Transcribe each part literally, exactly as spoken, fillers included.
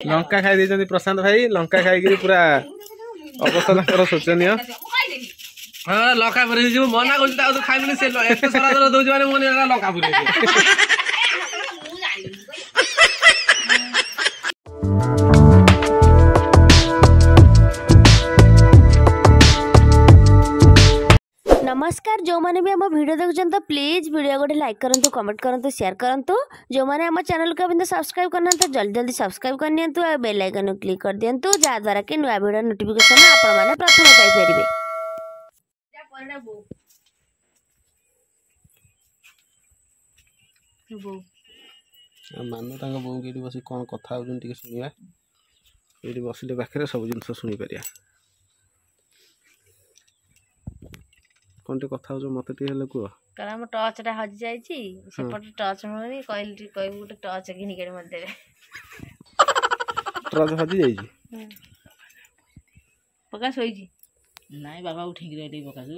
ଲଙ୍କା ଖାଇ ଦେଇଛନ୍ତି ପ୍ରଶାନ୍ତ ଭାଇ। ଲଙ୍କା ଖାଇକିରି ପୁରା ଅବସ୍ଥା ତାଙ୍କର ଶୋଚନୀୟ। ହଁ, ଲଙ୍କା ପୁରେଇ ଦେଇଛି। ମୁଁ ମନା କରୁଛି ତାକୁ, ତୁ ଖାଇବୁନି। ସେ ଏତେ ସରା ଦଉଛି, ମାନେ ମୁଁ ଲଙ୍କା ପୁରେଇ। ନମସ୍କାର। ଯେଉଁମାନେ ବି ଆମ ଭିଡ଼ିଓ ଦେଖୁଛନ୍ତି ତ ପ୍ଲିଜ୍ ଭିଡ଼ିଓ ଗୋଟେ ଲାଇକ୍ କରନ୍ତୁ, କମେଣ୍ଟ କରନ୍ତୁ, ସେୟାର କରନ୍ତୁ। ଯେଉଁମାନେ ଆମ ଚ୍ୟାନେଲକୁ ଏବେ ସବସ୍କ୍ରାଇବ୍ କରିନାହାନ୍ତି, ଜଲ୍ଦି ଜଲ୍ଦି ସବସ୍କ୍ରାଇବ୍ କରିନିଅନ୍ତୁ ଆଉ ବେଲ୍ ଆଇକନ୍କୁ କ୍ଲିକ୍ କରିଦିଅନ୍ତୁ, ଯାହାଦ୍ୱାରା କି ନୂଆ ଭିଡ଼ିଓ ନୋଟିଫିକେସନ୍ ଆପଣମାନେ ପ୍ରଥମେ ପାଇପାରିବେ। ମାନୁ ତାଙ୍କ ବୋଉଙ୍କୁ ଏଇଠି ବସି କ'ଣ କଥା ହେଉଛନ୍ତି ଟିକେ ଶୁଣିବା। ଏଇଠି ବସିଲେ ପାଖରେ ସବୁ ଜିନିଷ ଶୁଣିପାରିବା। କ'ଣ ଟିକେ କଥା ହଉଛ, ମତେ ଟିକେ ହେଲେ କୁହ। କାରଣ ଆମ ଟର୍ଚ୍ଚଟା ହଜି ଯାଇଛି, ସେପଟେ ଟର୍ଚ୍ଚ ମିଳୁନି। କହିଲି ଟିକେ କହିବୁ ଗୋଟେ ଟର୍ଚ୍ଚ କିଣିକି ଆଣି ମତେ ଦେବେ। ଟର୍ଚ୍ଚ ହଜି ଯାଇଛି। ପ୍ରକାଶ ଶୋଇଛି। ନାଇଁ ବାବା, ଉଠେଇକି ରହିଲି। ପ୍ରକାଶ,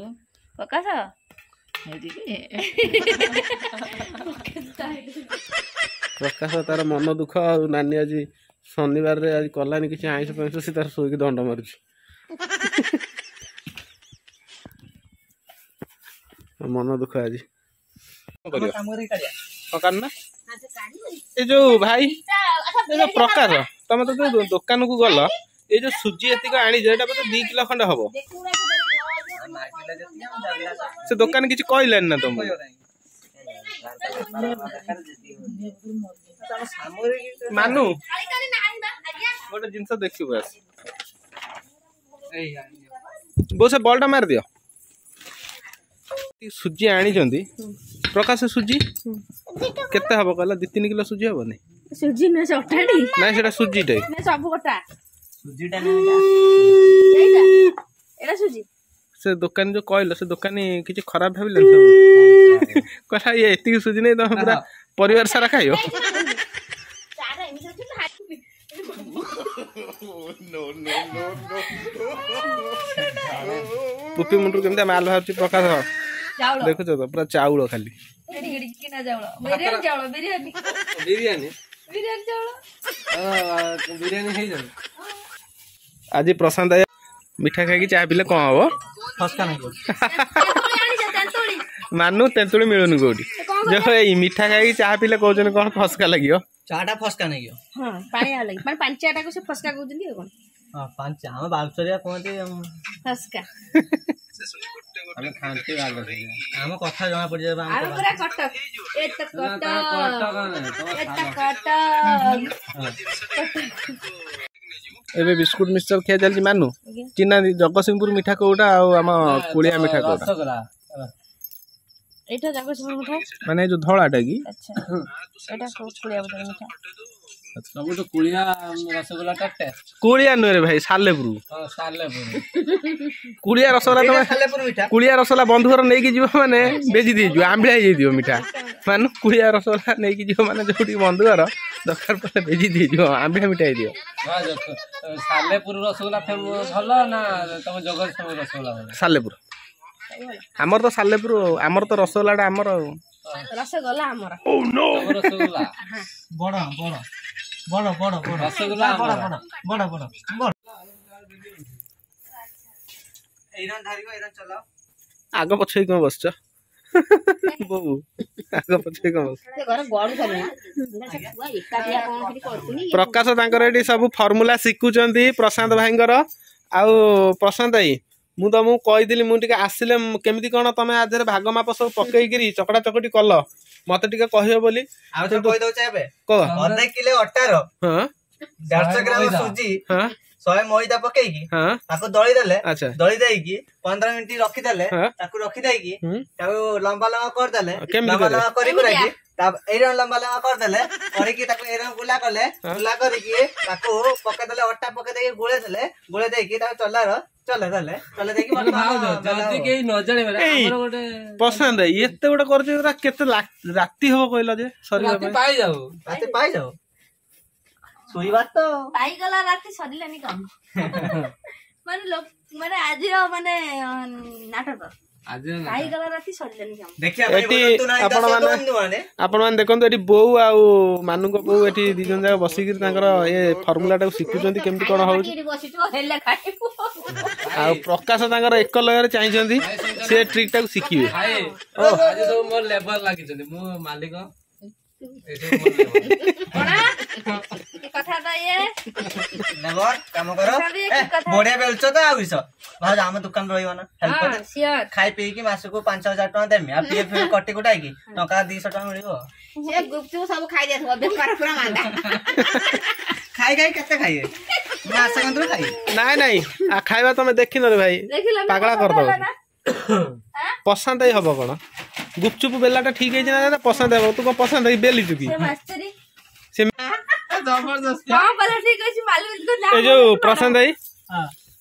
ପ୍ରକାଶ ପ୍ରକାଶ ତାର ମନ ଦୁଃଖ। ଆଉ ନାନୀ ଆଜି ଶନିବାରରେ ଆଜି କଲାନି କିଛି ଆଇଁଷ ଫାଇଁଷ, ସେ ତାର ଶୋଇକି ଦଣ୍ଡ ମାରୁଛି। ମନ ଦୁଃଖ ଆଜି। ନା ଏ ଯୋଉ ଭାଇ, ଏ ଯୋଉ ପ୍ରକାଶ, ତମେ ତ ଯୋଉ ଦୋକାନକୁ ଗଲ, ଏଇ ଯୋଉ ସୁଜି ଏତିକ ଆଣିଛ, ଏଇଟା ବୋଧେ ଦି କିଲୋ ଖଣ୍ଡେ ହବ। ସେ ଦୋକାନ କିଛି କହିଲାନି ନା ତମକୁ? ମାନୁ, ଗୋଟେ ଜିନିଷ ଦେଖିବୁ ଆସ। ବୋଉ, ସେ ବଲଟା ମାରିଦିଅ। ସୁଜି ଆଣିଛନ୍ତି ପ୍ରକାଶ, ସୁଜି କେତେ ହବ କହିଲା? ଦି ତିନି କିଲୋ ସୁଜି ହବନି? ସୁଜି ନୁହେଁ, ସେ ଅଟାଟି। ନାଇଁ, ସେଟା ସୁଜିଟା। ସବୁ କଟା ଏଟା ସୁଜି। ସେ ଦୋକାନୀ ଯୋଉ କହିଲ, ସେ ଦୋକାନୀ କିଛି ଖରାପ ଭାବିଲେନି? କହିଲା ଇଏ ଏତିକି ସୁଜି ନେଇ ତମେ ପୁରା ପରିବାର ସାରା ଖାଇବ। ପୁପି ମୁଣ୍ଡରୁ କେମିତି ମାଲ ବାହାରୁଛି ପ୍ରକାଶ, ଦେଖୁଛ ତ? ପୁରା ଚାଉଳ ଖାଲି। ବିରିୟାନୀ ବିରିୟାନୀ ହେଇଯାଉ ଆଜି। ପ୍ରଶାନ୍ତ ମିଠା ଖାଇକି ଚା ପିଇଲେ କଣ ହବ? ମାନୁ, ତେନ୍ତୁଳି ମିଳୁନି କୋଉଠି। ଯୋଉ ଏଇ ମିଠା ଖାଇକି ଚାହା ପିଇଲେ କହୁଛନ୍ତି କଣ ଫସ୍କା ଲାଗିବ? ଚାଟା ଫସ୍କା ନାଗିବ। ହଁ, ପାଣିଆ ଲାଗିବ, ମାନେ ପାଞ୍ଚ ଟାକୁ ସେ ଫସ୍କା କହୁଛନ୍ତି। ଆଉ କଣ? ହଁ, ପାଞ୍ଚ ଆମ ବାଲସରିଆ କୁହନ୍ତି ଫସ୍କା। ଆମେ ଖାଣ୍ଟି, ଆମ କଥା ଜଣା ପଡିଯିବ। ଆମେ ପୁରା କଟକ, ଏ ତ କଟକ, ଏ ତ କଟକ। ଏବେ ବିସ୍କୁଟ ମିକ୍ସଚର ଖିଆ ଚାଲିଛି। ମାନୁ, ଚିହ୍ନା ଜଗତସିଂହପୁର ମିଠା କୋଉଟା ଆଉ ଆମ କୁଳିଆ ମିଠା କୋଉଟା? ଏଇଟା ଜଗତସିଂହପୁର ମିଠା। ମାନେ ଯୋଉ ଧଳାଟା କି? ଆଚ୍ଛା, ଏଇଟା କୁଳିଆ ମିଠା। ସବୁଠୁ କୁଳିଆ ରସଗୋଲାଟା ଟେଷ୍ଟ। କୁଳିଆ ନୁହେଁ ରେ ଭାଇ, ସାଲେପୁର। ହଁ, ସାଲେପୁର। କୁଳିଆ ରସଗୋଲା ତମେ, କୁଳିଆ ରସଗୋଲା ବନ୍ଧୁ ଘର ନେଇକି ଯିବ ମାନେ ବେଜି ଦେଇଯିବ, ଆମ୍ବିଳା ହେଇଯାଇଥିବ ମିଠା। ମାନେ କୁଳିଆ ରସଗୋଲା ନେଇକି ଯିବ ମାନେ ଯୋଉଠି ବନ୍ଧୁ ଘର, ଦରକାର ପଡ଼ିଲେ ବେଜି ଦେଇଯିବ, ଆମ୍ବିଳା ମିଠା ହେଇଯିବ। ସାଲେପୁର ରସଗୋଲା ଭଲ ନା ତମ ଜଗତସିଂହପୁର ରସଗୋଲା ଭଲ? ସାଲେପୁର ଆମର ତ, ସାଲେପୁର ଆମର ତ ରସଗୋଲାଟା ଆମର। ରସଗୋଲା ଆମର। ରସଗୋଲା ବଡ ବଡ ବଡ ବଡ ବଡ ରସଗୋଲା ବଡ ବଡ ବଡ ବଡ ବଡ। ଏଇରନ୍ ଧରିବ, ଏଇରନ୍ ଚଲାଅ। ଆଗ ପଛ ହେଇ କଣ ବସିଛ ବୋଉ? ଆଗ ପଛ ହେଇ କଣ ବସିଛ? ପ୍ରକାଶ ତାଙ୍କର ଏଠି ସବୁ ଫର୍ମୁଲା ଶିଖୁଛନ୍ତି ପ୍ରଶାନ୍ତ ଭାଇଙ୍କର। ଆଉ ପ୍ରଶାନ୍ତ ଭାଇ, ମୁଁ ତମକୁ କହିଥିଲି ମୁଁ ଟିକେ ଆସିଲେ କେମିତି କଣ ତମେ ଆ ଦେହରେ ଭାଗ ମାପ ସବୁ ପକେଇକିରି ଚକଟା ଚକଟି କଲ, ମତେ ଟିକେ କହିବ ବୋଲି। ଆଉ କହିଦଉଛି ଏବେ। କହ। ଅଧେ କିଲୋ ଅଟାର ହଁ ଦେଢ଼ଶହ ଗ୍ରାମ ସୁଜି, ହଁ ଶହେ ମଇଦା ପକେଇକି ହଁ ତାକୁ ଦଳି ଦେଲେ। ଆଚ୍ଛା ଦଳି ଦେଇକି ପନ୍ଦର ମିନିଟ ରଖିଦେଲେ। ହଁ ତାକୁ ରଖିଦେଇକି ହୁଁ ତାକୁ ଲମ୍ବା ଲମ୍ବା କରିଦେଲେ। କେମିତି ଲମ୍ବା କରିବେ? ଲମ୍ବା କରି କୁରାକି ଏଇରକମ ଲମ୍ବା ଲମ୍ବା କରିଦେଲେ, କରିକି ତାକୁ ଏଇରକମ ଗୁଲା କଲେ। ଗୁଲା କରିକି ତାକୁ ପକେଇଦେଲେ, ଅଟା ପକେଇ ଦେଇକି ଗୋଳେଇ ଦେଲେ। ଗୋଳେଇ ଦେଇକି ତାକୁ ଚଲାର ଚଲେଇ ଦେଲେ, ଚଲେଇ ଦେଇକି ଭାଉଜ, ଯଦି କେହି ନ ଜାଣିବେ ଏଇ, ଆମର ଗୋଟେ ପ୍ରଶାନ୍ତ ଭାଇ, ଏତେ ଗୋଟେ କରୁଛ, ଏଗୁରା କେତେ ରାତି ହବ କହିଲ ଯେ ସରିବା ରାତି ପାଇଁ? ପାଇଯାଉ। ରାତି ପାଇଯାଉ, ଶୋଇବା ତ ପାଇଗଲା ରାତି, ସରିଲାନି କାମ। ମାନେ ଲୋକ ମାନେ ଆଜିର ମାନେ ନାଟକ। ଖାଇଗଲା ରାତି ସରିଲାନି କାମ। ଦେଖିବା ପାଇଁ ଏଠି ଭୁଲନ୍ତୁ ନାହିଁ ଦର୍ଶକ ଆପଣମାନେ ବନ୍ଧୁମାନେ। ଆପଣମାନେ ଦେଖନ୍ତୁ, ଏଠି ବୋଉ ଆଉ ମାନୁଙ୍କ ବୋଉ ଏଠି ଦି ଜଣ ଯାକ ବସିକିରି ତାଙ୍କର ଏ ଫର୍ମୁଲାଟାକୁ ଶିଖୁଛନ୍ତି, କେମିତି କଣ ହଉଛି। ଏଠି ବସିଛୁ ହେଲେ ଖାଇବୁ। ଆଉ ପ୍ରକାଶ ତାଙ୍କର ଏକ ଲୟରେ ଚାହିଁଛନ୍ତି, ସେ ଟ୍ରିକ୍ ଟାକୁ ଶିଖିବେ। ଭାଇ, ଆଜି ସବୁ ମୋର ଲେବର ଲାଗିଛନ୍ତି, ମୁଁ ମାଲିକ, ଏସବୁ ମୋର labor। କଣ କି କଥା ତ ଇଏ? ଲେବର କାମ କର। ପ୍ରଶାନ୍ତ, ଏ, କି କଥା? ବଢିଆ ବେଲୁଛ ତ। ଆଉ କିସ ଭାଉଜ, ଆମ ଦୋକାନ ରହିବ ନା ହେଲ୍ପର? ହଁ, ସିଓର। ଖାଇ ପିଇକି ମାସକୁ ପାଞ୍ଚ ହଜାର ଟଙ୍କା ଦେମି, ଆଉ ପିଏଫ କଟି କୁଟାଇକି ଟଙ୍କା ଦିଶହ ଟଙ୍କା ମିଳିବ। ସେ ଗୁପଚୁପ ସବୁ ଖାଇ ଦେଇଥିବ, ବେପାର ପୁରା ମାନ୍ଦା। ଖାଇ ଖାଇ କେତେ ଖାଇବେ? ମାସେ କନ୍ତରୁ ଖାଇବେ। ନାଇଁ ନାଇଁ, ଆ ଖାଇବା ତମେ ଦେଖିନ ରେ ଭାଇ। ଦେଖିଲ ନା? ପାଗଳା ପସନ୍ଦ କରିଦବ। ହେଲା ନା? ପସନ୍ଦ ହେଇ ହବ କଣ? ଗୁପଚୁପ ବେଲାଟା ଠିକ ହେଇଛି ନା? ନା ପସନ୍ଦ ହେବ, ତୁ କଣ ପସନ୍ଦ ହେଇ ବେଲିଛୁ କି? ସେ ମାସ୍ତରୀ। ସେ ଜବରଦସ୍ତ। ହଁ ପରା, ଠିକ ଅଛି ମାଲିକ ନା। ଏ ଯୋଉ ପ୍ରଶାନ୍ତ ଭାଇ,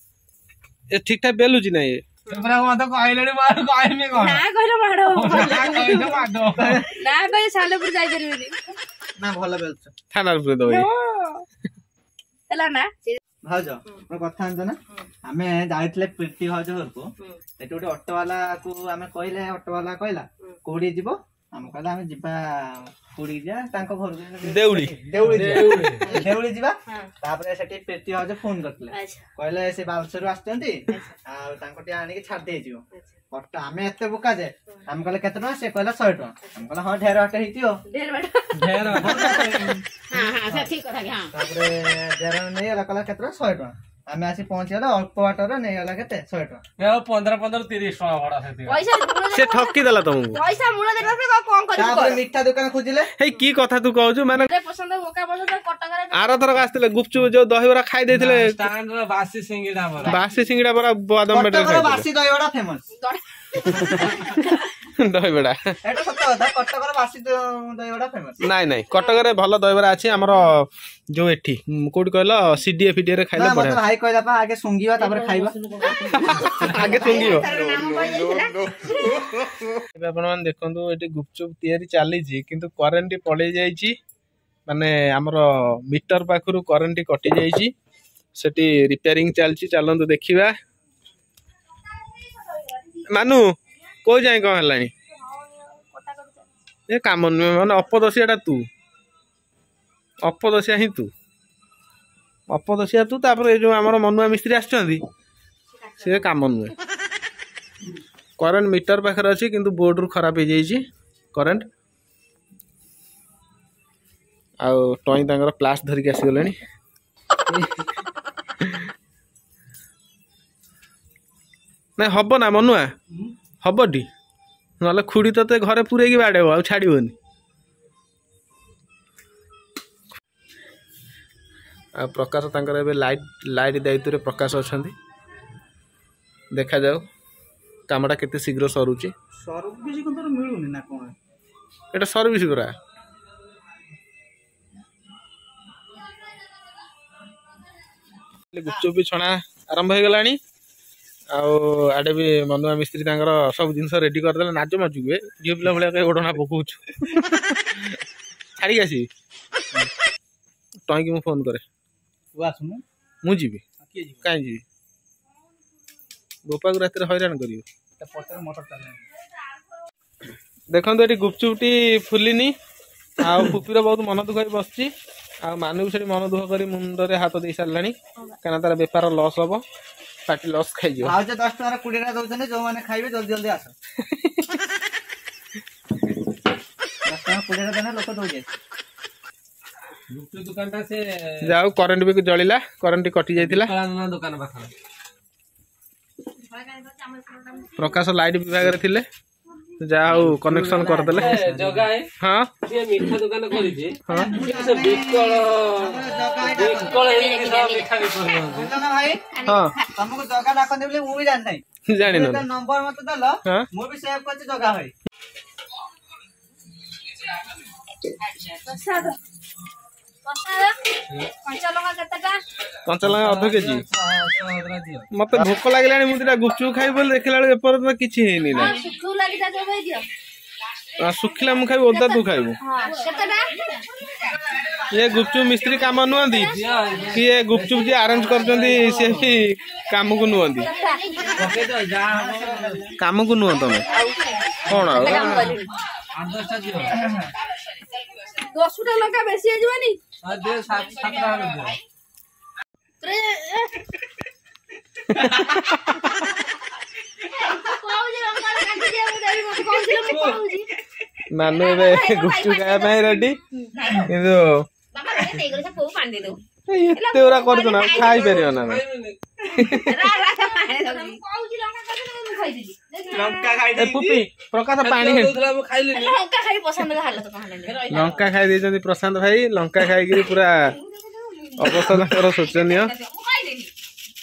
ଏ ଠିକ ଠାକ ବେଲୁଛି ନା ଇଏ? ପୁରା ମତେ କହିଲେଣି, ମୁଁ ଆଉ କହିବି କଣ? ନା କହିଲେ ମାଡ ହବ। ନା କହିଲେ ମାଡ ହବ। ନା କହିଲେ ସାଲେପୁର ଯାଇପାରିବେନି। ନା, ଭଲ ବେଲୁଛ। ଥାନାରେ ପୁରେଇ ଦବ ଇଏ। ହେଲା ନା? ଭାଉଜ, ଗୋଟେ କଥା ଜାଣିଛ ନା? ଆମେ ଯାଇଥିଲେ ପ୍ରୀତି ଭାଉଜ ଘରକୁ। ସେଠି ଗୋଟେ ଅଟୋ ବାଲାକୁ ଆମେ କହିଲେ, ଅଟୋ ବାଲା କହିଲା କୋଉଠି ଯିବ? ଆମେ କହିଲେ ଆମେ ଯିବା, କୋଉଠି ଯିବା? ତାଙ୍କ ଘରକୁ, ଦେଉଳି। ଦେଉଳି ଯିବା, ଦେଉଳି ଯିବା। ତାପରେ ସେଠି ପ୍ରୀତି ଭାଉଜ ଫୋନ କରିଥିଲେ। ଆଚ୍ଛା। କହିଲେ ସେ ବାଲେଶ୍ୱରରୁ ଆସିଛନ୍ତି ଆଉ ତାଙ୍କୁ ଟିକେ ଆଣିକି ଛାଡି ଦେଇଯିବ ଅଟୋ। ଆମେ ଏତେ ବୋକା ଯେ ଆମେ କହିଲେ କେତେ ଟଙ୍କା? ସେ କହିଲା ଶହେ ଟଙ୍କା। ଆମେ କହିଲେ ହଁ, ଢେର ବାଟ ହେଇଥିବ। ଢେର ବାଟ। ଢେର। ତାପରେ ଢେର ନେଇଗଲା, କହିଲା କେତେ ଟଙ୍କା? ଶହେ ଟଙ୍କା। ଆମେ ଆସି ପହଞ୍ଚିଗଲା ଅଳ୍ପ ବାଟରେ, ନେଇଗଲା କେତେ? ଶହେ ଟଙ୍କା। ଏ ଆଉ ପନ୍ଦର ପନ୍ଦର ତିରିଶ ଟଙ୍କା ଭଡା ସେତିକି। ପଇସା ମୂଳ ସେ ଠକି ଦେଲା ତମକୁ। ପଇସା ମୂଳ ଦେଲା, କଣ କରିବୁ? ତାପରେ କର। ମିଠା ଦୋକାନ ଖୋଜିଲେ। ହେଇ, କି କଥା ତୁ କହୁଛୁ ମାନେ? ଘରେ ପସନ୍ଦ, ବୋକା ପସନ୍ଦ କଟକରେ। ଆରଥରକ ଆସିଥିଲେ, ଗୁପଚୁପ ଯୋଉ ଦହିବରା ଖାଇ ଦେଇଥିଲେ। ଷ୍ଟାଣ୍ଡ ର ବାସି ସିଙ୍ଗିଡା ବରା। ବାସି ସିଙ୍ଗିଡା ବରା, ବାଦାମ ବେଟରେ। କଟକର ଖାଇଥିଲେ। ବାସି ଦହିବରା ଫେମସ। ଦହିବରା। ଏଇଟା ସତ କଥା, କଟକର ବାସି ଦ- ଦହିବରା ଫେମସ। ନାଇଁ ନାଇଁ, କଟକରେ ଭଲ ଦହିବରା ଅଛି ଆମର ଯୋଉ ଏଠି ଉଁ, କୋଉଠି କହିଲ, ସିଡିଏ ଫିଡିଏ ରେ ଖାଇଲେ ନା, ମତେ ବଢିଆ। ଭାଇ କହିଲା ପା, ଆଗେ ଶୁଙ୍ଘିବା ତାପରେ ଖାଇବା। ଆଗେ ଶୁଙ୍ଘିବ। ନାମ କହିଯାଇଥିଲା। ଏବେ ଆପଣମାନେ ଦେଖନ୍ତୁ, ଏଠି ଗୁପଚୁପ ତିଆରି ଚାଲିଛି, କିନ୍ତୁ କରେଣ୍ଟ ପଳେଇ ଯାଇଛି। ମାନେ ଆମର ମିଟର ପାଖରୁ କରେଣ୍ଟ କଟି ଯାଇଛି, ସେଠି ରିପେୟାରିଂ ଚାଲିଛି। ଚାଲନ୍ତୁ ଦେଖିବା। ମାନୁ, କୋଉ ଯାଏଁ କଣ ହେଲାଣି? ଏ କାମ ନୁହେଁ, ମାନେ ଅପଦସିଆଟା ତୁ, ଅପଦସିଆ ହିଁ ତୁ, ଅପଦସିଆ ତୁ। ତାପରେ ଏ ଯୋଉ ଆମର ମନୁଆ ମିସ୍ତ୍ରୀ ଆସିଛନ୍ତି, ସେ କାମ ନୁହେଁ। କରେଣ୍ଟ ମିଟର ପାଖରେ ଅଛି, କିନ୍ତୁ ବୋର୍ଡରୁ ଖରାପ ହେଇଯାଇଛି କରେଣ୍ଟ। ଆଉ ଟଇଁ ତାଙ୍କର ପ୍ଲାସ୍ ଧରିକି ଆସିଗଲେଣି। ନାଇଁ, ହବ ନା ମନୁଆ? ହବଟି, ନହେଲେ ଖୁଡ଼ି ତତେ ଘରେ ପୁରେଇକି ବାଡ଼େଇବ, ଆଉ ଛାଡ଼ିବନି। ଆଉ ପ୍ରକାଶ ତାଙ୍କର ଏବେ ଲାଇଟ୍ ଲାଇଟ୍ ଦାୟିତ୍ୱରେ ପ୍ରକାଶ ଅଛନ୍ତି। ଦେଖାଯାଉ କାମଟା କେତେ ଶୀଘ୍ର ସରୁଛି। ସର୍ଭିସ କିନ୍ତୁ ମିଳୁନି ନା କଣ? ଏଟା ସର୍ଭିସ ପରା। ଗୁପଚୁପ ବି ଛଣା ଆରମ୍ଭ ହେଇଗଲାଣି। ଆଉ ଆଡେ ବି ମନୁଆ ମିସ୍ତ୍ରୀ ତାଙ୍କର ସବୁ ଜିନିଷ ରେଡି କରିଦେଲେ। ନାଜ ମାଜୁକୁ ଏ ଝିଅ ପିଲା ଭଳିଆ କାଇଁ ଓଢ଼ଣା ପକଉଛୁ? ଛାଡ଼ିକି ଆସିବି ଟଇଁକି, ମୁଁ ଫୋନ କରେ। ତୁ ଆସୁନୁ। ମୁଁ ଯିବି? କିଏ ଯିବ? କାହିଁ ଯିବି? ବୋପାକୁ ରାତିରେ ହଇରାଣ କରିବି। ତା ପଛରେ ମଟର ଚାଲିଲାଣି। ଦେଖନ୍ତୁ, ଏଠି ଗୁପଚୁପଟି ଫୁଲିନି ଆଉ ପୁପିର ବହୁତ ମନ ଦୁଃଖ ହେଇ ବସିଛି। ଆଉ ମାନୁ ବି ସେଠି ମନ ଦୁଃଖ କରି ମୁଣ୍ଡରେ ହାତ ଦେଇ ସାରିଲାଣି, କାହିଁକିନା ତାର ବେପାର ଲସ୍ ହବ, ପାଟି ଲସ୍ ଖାଇଯିବ। ଭାଉଜ ଦଶ ଟଙ୍କାର କୋଡିଏଟା ଦଉଛନ୍ତି, ଯୋଉମାନେ ଖାଇବେ ଜଲ୍ଦି ଜଲ୍ଦି ଆସ। ଦଶ ଟଙ୍କା କୋଡିଏଟା ଦେଲେ ଲୋକ ଦଉଛନ୍ତି। ଗୁପଚୁପ ଦୋକାନଟା ସେ ଯାଉ, କରେଣ୍ଟ ବି ଜଳିଲା, କରେଣ୍ଟ କଟି ଯାଇଥିଲା। ବିକଳାନନ୍ଦ ଦୋକାନ ପାଖରେ। ପ୍ରକାଶ ଲାଇଟ୍ ବିଭାଗରେ ଥିଲେ, ଯାହା ହଉ କନେକ୍ସନ କରିଦେଲେ। ଏ ଜଗା ଭାଇ, ହଁ। ସିଏ ମିଠା ଦୋକାନ କରିଛି। ହଁ। ସେ ବିକଳ ବିକଳ ହେଇକି ସବୁ ମିଠା ବିକୁଛନ୍ତି। ବୁଝିଲ ନା ଭାଇ? ହଁ। ତମକୁ ଜଗା ଡାକନ୍ତି ବୋଲି ମୁଁ ବି ଜାଣିନାହିଁ। ଜାଣିନ? ନମ୍ବର ମତେ ଦେଲ। ହଁ। ମୁଁ ବି ସେଭ୍ କରିଛି ଜଗା ଭାଇ। ପ୍ରସାଦ, ପ୍ରସାଦ, କଞ୍ଚା ଲଙ୍କା କେତେଟା? କଞ୍ଚା ଲଙ୍କା ଅଧ କେଜି। ମତେ ଭୋକ ଲାଗିଲାଣି, ମୁଁ ଦିଟା ଗୁପଚୁପ ଖାଇବି ବୋଲି ଦେଖିଲା ବେଳକୁ ଏପର୍ଯ୍ୟନ୍ତ କିଛି ହେଇନି ନା। ହଁ, ଶୁଖୁ ଲାଗିଟା ଯୋଗାଇ ଦିଅ। ଶୁଖିଲା ମୁଁ ଖାଇବି, ଓଦା ତୁ ଖାଇବୁ। ଇଏ ଗୁପଚୁପ ମିସ୍ତ୍ରୀ କାମ ନୁହନ୍ତି କି ଏ ଗୁପଚୁପ ଯିଏ ଆରେଞ୍ଜ କରୁଛନ୍ତି ସିଏ ବି କାମକୁ ନୁହନ୍ତି, କାମକୁ ନୁହଁ। ତମେ କଣ ଆଉ ଦଶଟା ଲଙ୍କା ବେଶୀ ହେଇଯିବନି? ନାନୁ ଏବେ ଗୁପଚୁପ ଖାଇବା ପାଇଁ ରେଡି, କିନ୍ତୁ ଏତେ ଗୁରା କରୁଛ ନା ଖାଇପାରିବ ନା? ପ୍ରକାଶ ପାଣି ଲଙ୍କା ଖାଇ ଦେଇଛନ୍ତି ପ୍ରଶାନ୍ତ ଭାଇ। ଲଙ୍କା ଖାଇକିରି ପୁରା ଅବସ୍ଥା ତାଙ୍କର ଶୋଚନୀୟ।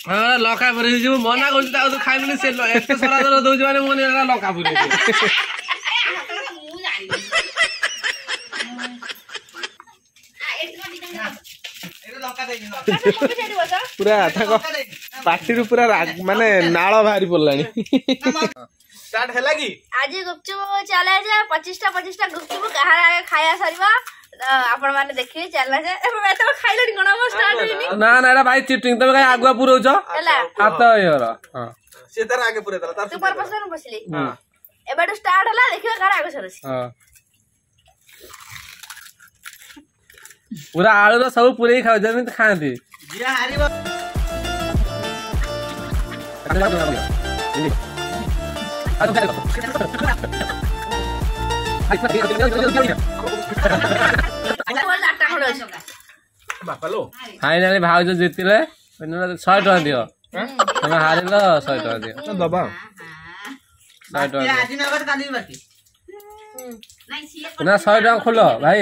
ହଁ, ଲଙ୍କା ପୁରେଇ ଦେଇଛୁ। ମନା କରୁଛି ତାକୁ ତୁ ଖାଇବୁନି, ସେ ଏତେ ସରା ଦଉଛି ମାନେ ମୁଁ ଲଙ୍କା ପୁରେଇ। ପୁରା ତାଙ୍କ ପାଟିରୁ ପୁରା ମାନେ ନାଳ ବାହାରି ପଡିଲାଣି। ଷ୍ଟାର୍ଟ ହେଲା କି? ଆଜି ଗୁପଚୁପ ଚ୍ୟାଲେଞ୍ଜ, ପଚିଶଟା ପଚିଶଟା ଗୁପଚୁପ କାହାର ଆଗେ ଖାଇବା ସରିବ ଆପଣ ମାନେ ଦେଖିବେ। ଚ୍ୟାଲେଞ୍ଜ ତମେ ଖାଇଲଣି କଣ? ଷ୍ଟାର୍ଟ ହେଇନି। ନା ନା, ଏଟା ଭାଇ ଚିଟିଂ। ତମେ କାଇଁ ଆଗୁଆ ପୁରଉଛ? ହାତ ହେଇଗଲା। ସେ ତାର ଆଗେ ପୁରେଇ ଦେଲା। ତୁ ପରେ ପଛରେ ମୁଁ ବସିଲି। ଏବେଠୁ ଷ୍ଟାର୍ଟ ହେଲା, ଦେଖିବା କାହାର ଆଗ ସରୁଛି। ପୁରା ଆଳୁର ସବୁ ପୁରେଇ ଖାଉ ଯେମିତି ଖାଆନ୍ତି। ଫାଇନାଲି ଭାଉଜ ଜିତିଲେ, ଶହେ ଟଙ୍କା ଦିଅ। ତମେ ହାରିଲ, ଶହେ ଟଙ୍କା ଦିଅ। ଦବା ଶହେ ଟଙ୍କା ନା, ଶହେ ଟଙ୍କା ଖୋଲ ଭାଇ,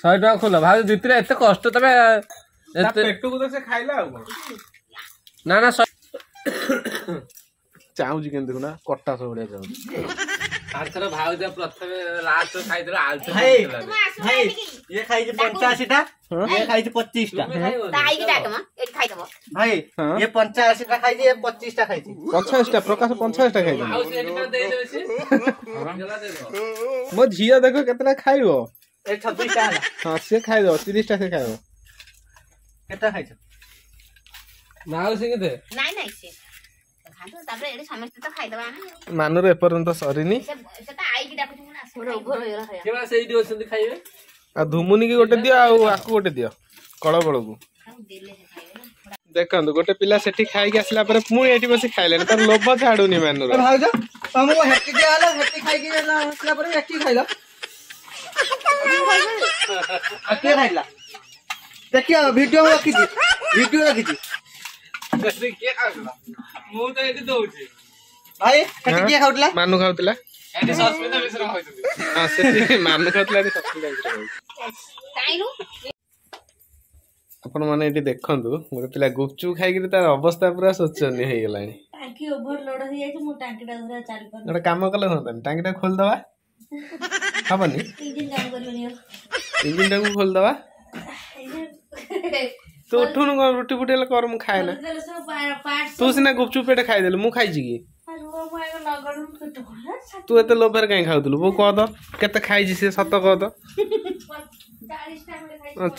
ଶହେ ଟଙ୍କା ଖୋଲ। ଭାଉଜ ଜିତିଲେ, ଏତେ କଷ୍ଟ ତମେ ଏତେ ପେଟକୁ ତ ସେ ଖାଇଲା ଆଉ କଣ। ନା ନା, ଚାହୁଁଛି କେମିତି ଦେଖୁନା, କଟା ସବୁ ଭଳିଆ ଚାହୁଁଛି। ଆରଥର ଭାଉଜ ପ୍ରଥମେ ଲାଷ୍ଟ ଖାଇଥିଲା। ଭାଇ ଭାଇ, ଇଏ ଖାଇଛି ପଞ୍ଚାଅଶୀଟା, ଇଏ ଖାଇଛି ପଚିଶଟା। ଭାଇ, ଇଏ ପଞ୍ଚାଅଶୀଟା ଖାଇଛି, ଇଏ ପଚିଶଟା ଖାଇଛି। ପଞ୍ଚାଅଶୀଟା ପ୍ରକାଶ ପଞ୍ଚାଅଶୀଟା ଖାଇଛି। ମୋ ଝିଅ ଦେଖ କେତେଟା ଖାଇବ। ଛବିଶଟା। ହଁ, ସିଏ ଖାଇଦବ ତିରିଶଟା, ସେ ଖାଇବ। କେତେଟା ଖାଇଛ ମାଉସୀ? କେତେ? ନାଇଁ ନାଇଁ, ସେ ତାପରେ ଏଠି ସମସ୍ତେ ତ ଖାଇଦବା। ମାନୁର ଏପର୍ଯ୍ୟନ୍ତ ସରିନି। ସେଇଠି ଅଛନ୍ତି ଖାଇବେ। ଆଉ ଧୁମୁନି କି ଗୋଟେ ଦିଅ, ଆଉ ଆକୁ ଗୋଟେ ଦିଅ କଳବଳକୁ। ଦେଖନ୍ତୁ, ଗୋଟେ ପିଲା ସେଠି ଖାଇକି ଆସିଲା ପରେ ପୁଣି ଏଠି ବସି ଖାଇଲେଣି, ତାର ଲୋଭ ଛାଡୁନି ମାନୁର। ଭାଉଜ, ତମକୁ ହେଟି ଦିଆହେଲା, ହେଟି ଖାଇକି ଆସିଲା ପରେ ଏଠି ଖାଇଲ। କିଏ ଖାଇଲା ଦେଖିବା। ଭିଡିଓ ରଖିଛି, ଭିଡିଓ ରଖିଛି। କିଏ ଖାଉଥିଲା? ମୁଁ ତ ଏଠି ଦଉଛି ଭାଇ। ସେଠି କିଏ ଖାଉଥିଲା? ମାନୁ ଖାଉଥିଲା। ଏଠି ସସ୍ମିତା ମିଶ୍ର ଖାଉଛନ୍ତି। ହଁ, ସେଠି ମାନୁ ଖାଉଥିଲା, ଏଠି ସସ୍ମିତା ମିଶ୍ର ଖାଉଛି। ଆପଣ ମାନେ ଏଠି ଦେଖନ୍ତୁ, ଗୋଟେ ପିଲା ଗୁପଚୁପ ଖାଇକିରି ତାର ଅବସ୍ଥା ପୁରା ଶୋଚନୀୟ ହେଇଗଲାଣି। ଟାଙ୍କି ଓଭରଲୋଡ ହେଇଯାଇଛି, ମୁଁ ଟାଙ୍କିଟା ଧରା ଚାଲି ପାରୁନି। ଗୋଟେ କାମ କଲେ ହୁଅନ୍ତାନି, ଟାଙ୍କିଟା ଖୋଲିଦବା ହବନି? ଇଞ୍ଜିନ କାମ କରିବନି। ଇଞ୍ଜିନ ଟାକୁ ଖୋଲିଦବା। ତୁ ଉଠୁନୁ, କଣ ରୁଟି ଫୁଟି ହେଲେ କର, ମୁଁ ଖାଏ ନା। ତୁ ସିନା ଗୁପଚୁପ ପେଟ ଖାଇଦେଲୁ, ମୁଁ ଖାଇଛି କି? ତୁ ଏତେ ଲୋଭରେ କାହିଁ ଖାଉଥିଲୁ? ବୋଉ କହ ତ କେତେ ଖାଇଛି ସେ, ସତ କହ ତ।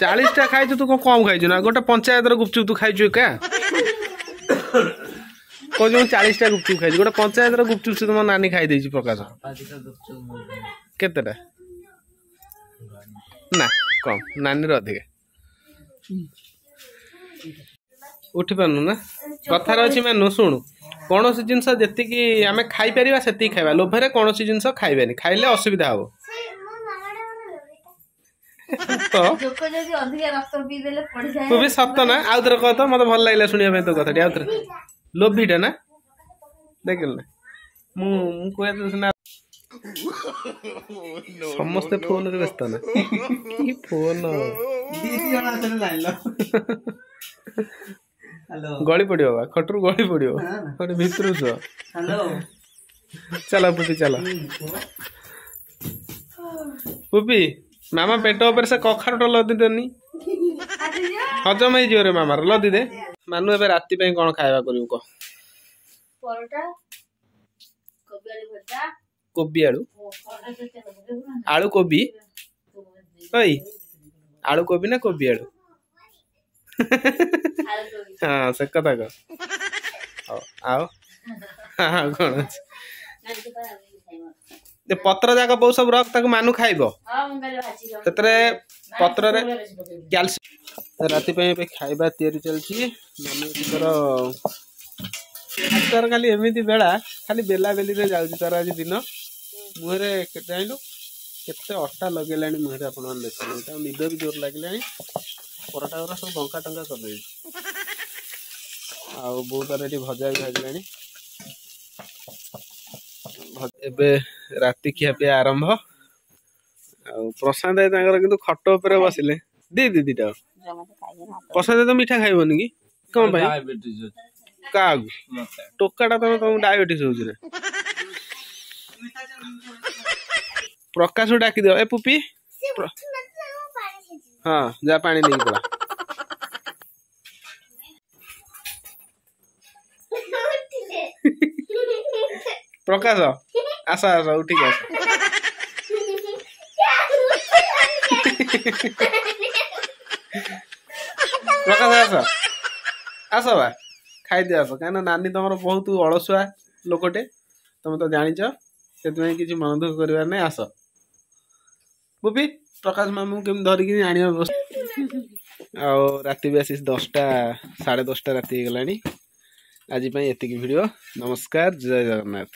ଚାଳିଶଟା ଖାଇଛୁ? ତୁ କଣ କମ ଖାଇଛୁ ନା? ଗୋଟେ ପଞ୍ଚାୟତର ଗୁପଚୁପ ତୁ ଖାଇଛୁ ଏକା। କହୁଛୁ ମୁଁ ଚାଳିଶଟା ଗୁପଚୁପ ଖାଇଛି, ଗୋଟେ ପଞ୍ଚାୟତର ଗୁପଚୁପ ସେ ତମ ନାନୀ ଖାଇ ଦେଇଛି। ପ୍ରକାଶ କେତେଟା? ନା କମ, ନାନୀର ଅଧିକା। ଉଠି ପାରୁନୁ ନା? କଥାରେ ଅଛି ମାନୁ, ଶୁଣୁ, କୌଣସି ଜିନିଷ ଯେତିକି ଆମେ ଖାଇପାରିବା ସେତିକି ଖାଇବା। ଲୋଭରେ କୌଣସି ଜିନିଷ ଖାଇବାନି, ଖାଇଲେ ଅସୁବିଧା ହବ। ତ ତୁ ବି ସତ ନା? ଆଉ ଥରେ କହ ତ, ମତେ ଭଲ ଲାଗିଲା ଶୁଣିବା ପାଇଁ ତୋ କଥାଟି। ଆଉ ଥରେ, ଲୋଭିଟା ନା ଦେଖିଲୁ ନା? ମୁଁ ମୁଁ କୁହେ ସିନା, ସମସ୍ତେ ଫୋନରେ ବ୍ୟସ୍ତ ନା କି ଫୋନ ଗଳି ପଡିବ ବା, ଖଟରୁ ଗଳି ପଡିବ, ଗୋଟେ ଭିତରୁ ଶୁଅ। ଚାଲ ପୁପି, ଚାଲ ପୁପି। ମାମା ପେଟ ଉପରେ ସେ କଖାରୁଟା ଲଦି ଦେନି, ହଜମ ହେଇଯିବ ରେ ମାମାର, ଲଦି ଦେ। ମାନୁ, ଏବେ ରାତି ପାଇଁ କଣ ଖାଇବା କରିବୁ କହ? ପରଟା, କୋବି ଆଳୁ ଭଜା। କୋବି ଆଳୁ ଆଳୁ କୋବି ଓଇ ଆଳୁ କୋବି ନା କୋବି ଆଳୁ ହଁ ସେ କଥା କହ ହଉ ଆଉ ଆଉ କଣ ଅଛି ଏ ପତ୍ର ଯାକ ବୋଉ ସବୁ ରଖ ତାକୁ ମାନୁ ଖାଇବ ସେଥିରେ ପତ୍ରରେ କ୍ୟାଲସିୟମ ରାତି ପାଇଁ ଏବେ ଖାଇବା ତିଆରି ଚାଲିଛି ମାନୁ ଏଠି ତାର ଆଜି ତାର ଖାଲି ଏମିତି ବେଳା ଖାଲି ବେଲା ବେଲିରେ ଯାଉଛି ତାର ଆଜି ଦିନ ମୁହଁରେ କେତେ ଜାଣିଲୁ କେତେ ଅଟା ଲଗେଇଲାଣି ମୁହଁରେ ଆପଣମାନେ ଦେଖନ୍ତୁ ତାକୁ ନିଦ ବି ଜୋର ଲାଗିଲାଣି ପରଟା ଗୁରା ସବୁ ବଙ୍କା ଟଙ୍କା କରିଦେଇଛି ଆଉ ବୋଉ ତାର ଏଠି ଭଜା ବି ଭାଜିଲାଣି ଭ- ଏବେ ରାତି ଖିଆ ପିଆ ଆରମ୍ଭ ଆଉ ପ୍ରଶାନ୍ତ ଭାଇ ତାଙ୍କର କିନ୍ତୁ ଖଟ ଉପରେ ବସିଲେ ଦି ଦି ଦିଟା ପ୍ରଶାନ୍ତ ଭାଇ ତ ମିଠା ଖାଇବନି କି କଣ ପାଇଁ ଡାଇବେଟିସ୍ ଅଛି କାହାକୁ ମତେ ଟୋକାଟା ତମେ ତମକୁ ଡାଇବେଟିସ୍ ହଉଛି ନା ପ୍ରକାଶକୁ ଡାକିଦିଅ ଏ ପୁପି ପ୍ର- ହଁ ଯା ପାଣି ନେଇକି ପଳା ପ୍ରକାଶ ଆସ ଆସ ଉଠିକି ଆସ ପ୍ରକାଶ ଆସ ଆସ ବା ଖାଇଦିଅ ଆସ କାହିଁକିନା ନାନୀ ତମର ବହୁତ ଅଳସୁଆ ଲୋକଟେ ତମେ ତ ଜାଣିଛ ସେଥିପାଇଁ କିଛି ମନ ଦୁଃଖ କରିବାର ନାହିଁ ଆସ ବୁବି ପ୍ରକାଶ ମାମୁଁ କେମିତି ଧରିକି ଆଣିବା ବ୍ୟବସ୍ଥା ଆଉ ରାତି ବି ଆସି ଦଶଟା ସାଢ଼େ ଦଶଟା ରାତି ହେଇଗଲାଣି ଆଜି ପାଇଁ ଏତିକି ଭିଡ଼ିଓ ନମସ୍କାର ଜୟ ଜଗନ୍ନାଥ